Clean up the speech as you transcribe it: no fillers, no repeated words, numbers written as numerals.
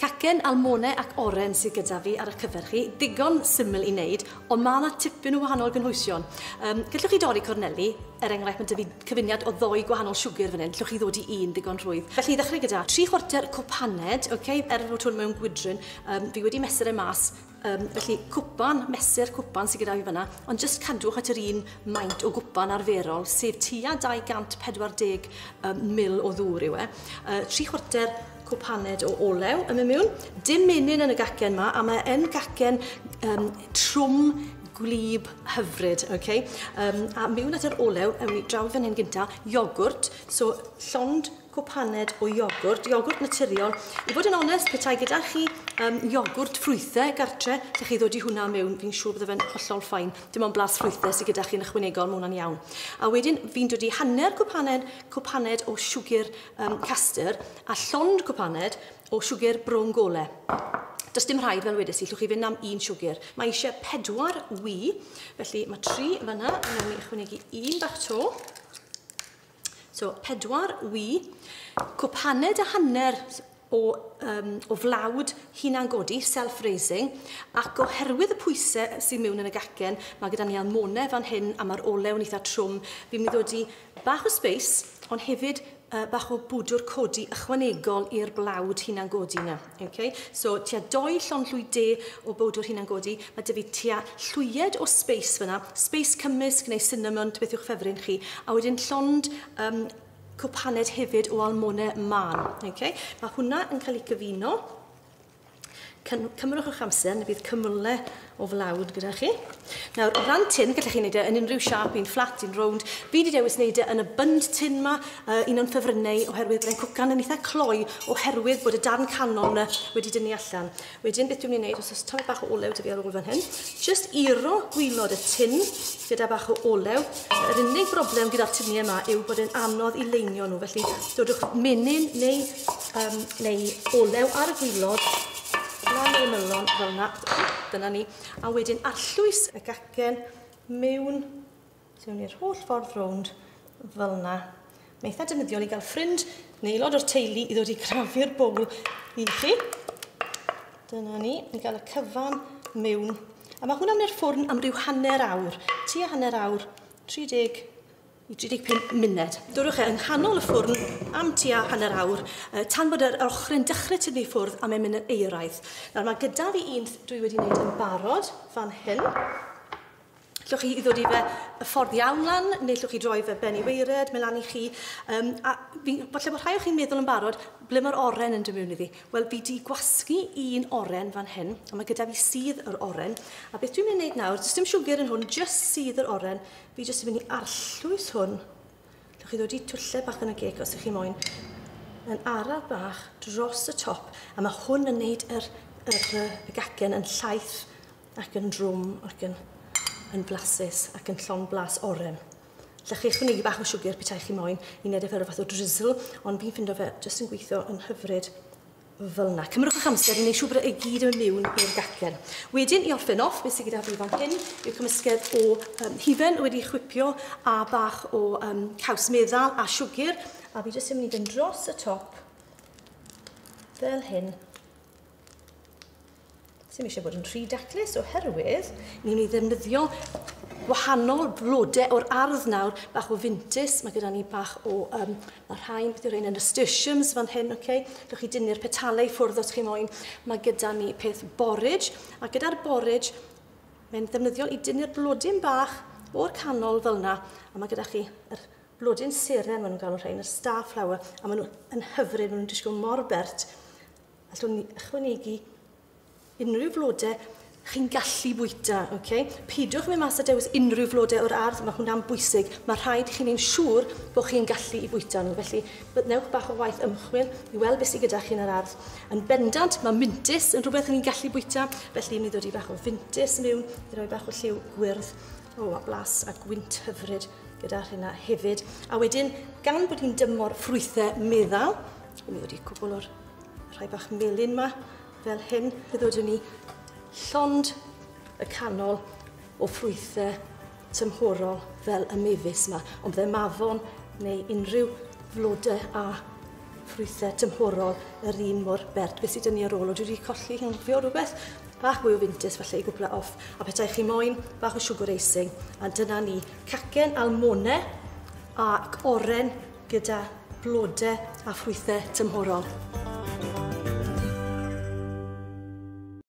Cacen, almone ac oren sydd gyda fi ar eich cyfer chi. Digon syml i wneud, ond mae yna tipyn o wahanol gynhwysion. Gallwch chi dorri corneli, er enghraifft mae 'da fi cyfuniad o ddoi gwahanol siwgr fan hyn, llwch chi ddod i un ddigon rhwydd. Felly i ddechrau gyda 3/4 cwpaned, okay, er fod hwn mewn gwydryn, fi wedi mesur e mas, felly cwpan, mesur cwpan sydd gyda fi fyna, ond jyst cadwch at yr un maint o gwpan arferol, sef tua 240 ml o ddŵr yw e. 3/4 cwpaned o olew yn mynd mewn. Dim menyn yn y gacen yma, a mae yn gacen trwm, gwlyb, hyfryd. Okay? A mewn at yr olew, ewn ni draw fan hyn gynta, iogwrt. So llond cwpaned o iogwrt, iogwrt naturiol. I fod yn onest, petai gyda chi iogwrt ffrwythau gartre, lle chi ddod i hwnna mewn, fi'n siŵr bydde fe'n hollol fine. Dim ond blas ffrwythau sydd gyda chi'n ychwanegol, mae hwnna'n iawn. A wedyn fi'n dod i hanner cwpaned o siwgr castor a llond cwpaned o siwgr brown gole. Does dim rhaid, fel wedes i, llwch chi fynd am un siwgr. Mae eisiau 4 wy, felly mae 3 fan'na, a wnawn ni ychwanegu un bach to. So, 4 wy, cwpaned a hanner o flawd hunangodi, self-raising, ac oherwydd y pwysau sydd mewn yn y gacen, mae gyda ni almone fan hyn a mae'r olew yn eitha trwm. Fi'n mynd i ddod i bach o sbeis, ond hefyd bach o bwdwr codi ychwanegol i'r blawd hunangodi yna. Okay? So, tua 2 llond llwy de o bwdwr hunangodi, mae 'da fi tua llwyed o sbeis fyna, sbeis cymysg neu cinnamon, beth yw'ch ffefryn chi, a wedyn llond cwpaned hefyd o almone mân. Okay? Mae hwnna yn cael ei cyfuno. Cymrwch eich amser, neu bydd cymylau o flawd gyda chi. Nawr, o ran tin, gallech chi wneud e yn unrhyw siâp, un fflat, un rownd. Fi wedi dewis wneud e yn y bund tin ma, un o'n ffefrynnau, oherwydd bod e'n cwcan yn eitha cloi, oherwydd bod y darn canol yna wedi dynnu allan. Wedyn, beth dwi'n mynd i wneud, os oes tamed bach o olew 'da fi ar ôl fan hyn, jyst iro gwaelod y tin gyda bach o olew. Yr unig broblem gyda'r tiniau yma yw bod e'n anodd i leinio nhw, felly dodwch menyn neu olew ar y gwaelod, lan yr ymylon fel yna, dyna ni. A wedyn arllwys y gacen mewn, mewn i'r holl ffordd rownd fel yna. Mae eitha defnyddiol i gael ffrind neu aelod o'r teulu i ddod i crafu'r bowl i chi. Dyna ni, i gael y cyfan mewn. A mae hwnna'n i'r ffwrn am ryw hanner awr, tua hanner awr, 30 i 35 munud. Dodwch e yng nghanol y ffwrn am tua hanner awr, tan bod yr ochrau'n dechrau tynnu ffwrdd a mae'n mynd yn euraidd. Nawr mae gyda fi un dwi wedi wneud yn barod fan hyn. Llwch chi i ddod i fe y ffordd iawn lan, neu llwch chi droi fe ben i waered, mae lan i chi. A fi, falle bod rhai o chi'n meddwl yn barod, ble mae'r oren yn dod mewn iddi? Wel, fi di gwasgu un oren fan hyn, a mae gyda fi sudd yr oren. A beth dwi'n mynd i wneud nawr, does dim siwgr yn hwn, jyst sudd yr oren. Fi jyst yn mynd i arllwys hwn. Llwch chi ddod i twllau bach yn y geg os ych chi moyn. Yn araf bach dros y top. A mae hwn yn neud y gacen yn llaith ac yn drwm ac yn blasus ac yn llond blas oren. Llwch chi ychwanegu bach o siwgr petai chi moyn i wneud e fel rhyw fath o drizzle, ond fi'n ffindo fe jyst yn gweithio yn hyfryd fel yna. Cymrwch eich amser i wneud siŵr bod e gyd yn mynd mewn i'r gacen. Wedyn, i orffen off, beth sydd gyda fi fan hyn yw cymysgedd o hufen wedi chwipio a bach o caws meddal a siwgr. A fi jyst yn mynd i fynd dros y top fel hyn. Sy'm eisiau bod yn rhy daclus oherwydd ni'n mynd i ddefnyddio gwahanol blodau o'r ardd nawr, bach o fintys, mae gyda ni bach o, mae rhain, beth yw'r rhain, nasturtiums fan hyn, okay? Llwch chi dynnu'r petalau i ffwrdd os chi moyn. Mae gyda ni peth borage, a gyda'r borage, mae'n ddefnyddiol i dynnu'r blodyn bach o'r canol fel yna, a mae gyda chi yr blodyn seren, maen nhw'n galw rhain, yr star flower, a maen nhw yn hyfryd, maen nhw'n disgwyl mor bert. Allwn ni ychwanegu unrhyw flodau chi'n gallu bwyta, okay? Peidiwch mynd mas a dewis unrhyw flodau o'r ardd, mae hwnna'n bwysig. Mae rhaid i chi wneud siŵr bod chi'n gallu i bwyta nhw. Felly, newch bach o waith ymchwil i weld beth sydd gyda chi yn yr ardd. Yn bendant, mae mintys yn rhywbeth chi'n gallu bwyta, felly ni'n dod i bach o fintys mewn, i roi bach o lliw gwyrdd, a blas a gwynt hyfryd gyda hynna hefyd. A wedyn, gan bod hi'n dymor ffrwythau meddal, ni'n dod i cwbl o'r rhai bach melyn ma, fel hyn, fe ddodwn ni llond y canol o ffrwythau tymhorol fel y mefus yma, ond bydde mafon neu unrhyw flodau a ffrwythau tymhorol yr un mor bert. Beth sydd 'da ni ar ôl? O, dwi wedi colli anghofio rhywbeth. Bach mwy o fintys falle i gwpla off. A petai chi moyn bach o sugar icing. A dyna ni, cacen almone ac oren gyda blodau a ffrwythau tymhorol.